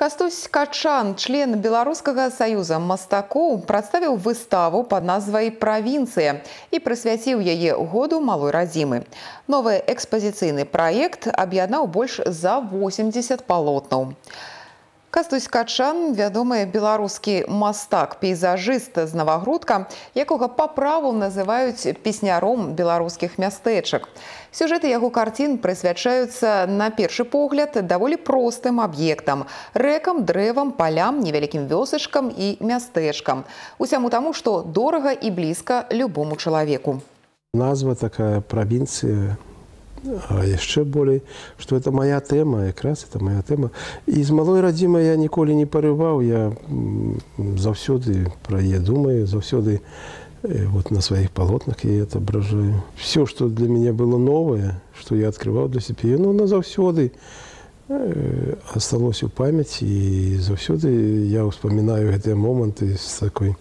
Кастусь Качан, член Белорусского союза мастакоў, прадставіў выставу под назвай «Провинция» и прысвяціў яе году малой радзімы. Новы экспазіцыйны праект аб'яднаў больш за 80 палотнаў. Кастусь Качан – вядомы беларускі мастак-пейзажыст з Навагрудка, якога па праву называюць песняром беларускіх мястэчак. Сюжэты яго карцін прысвячаюцца, на першы погляд, даволі простым аб'ектам – рэкам, дрэвам, палям, невялікім вёсачкам і мястэчкам. Усяму таму, што дорага і блізка любому чалавеку. Назва такая «Провинция». А яшчэ болей, што это моя тэма, якраз это моя тэма. І з малой радзімай я ніколі не парываў, я заўсёды пра яе думаю, заўсёды вот на сваіх палотнах я отображаю. Все, што для мяне было новае, што я адкрываў для сябе, оно заўсёды асталося ў памяці, і заўсёды я ўспамінаю гэтыя моманты з такой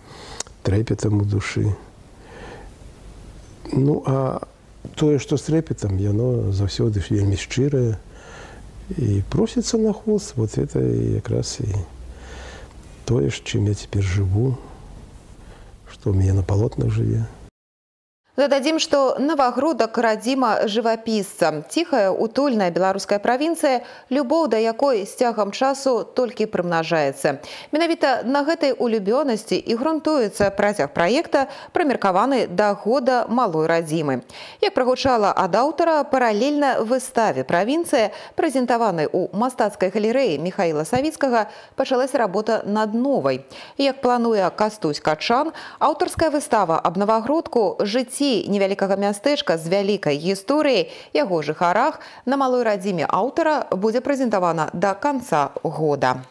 трэпетам у душы. Ну, а тое, што з трэпетам, яно заўсёды вельмі шчырае і просіцца на холст. Вот это якраз і тое, чым я цяпер жыву, што ў мяне на палотнах жыве. Дададзім, што Навагрудак радзіма жывапісца. Ціхая, утульная беларуская правінцыя, любоў да якой з цягам часу толькі прымнажаецца. Менавіта на гэтай улюбёнасці і грунтуецца працяг праекта, прымеркаваны да года малой радзімы. Як прагучала ад аўтара, паралельна выставе «Провинция», прэзентаванай у мастацкай галерэі Михаіла Савіцкага, пачалася работа над новай. Як плануе Кастусь Качан, аўтарская выстава аб Навагрудку, жыцці невялікага мястэчка з вялікай гісторыяй, яго жыхарах на малой радзіме аўтара будзе прэзентавана да канца года.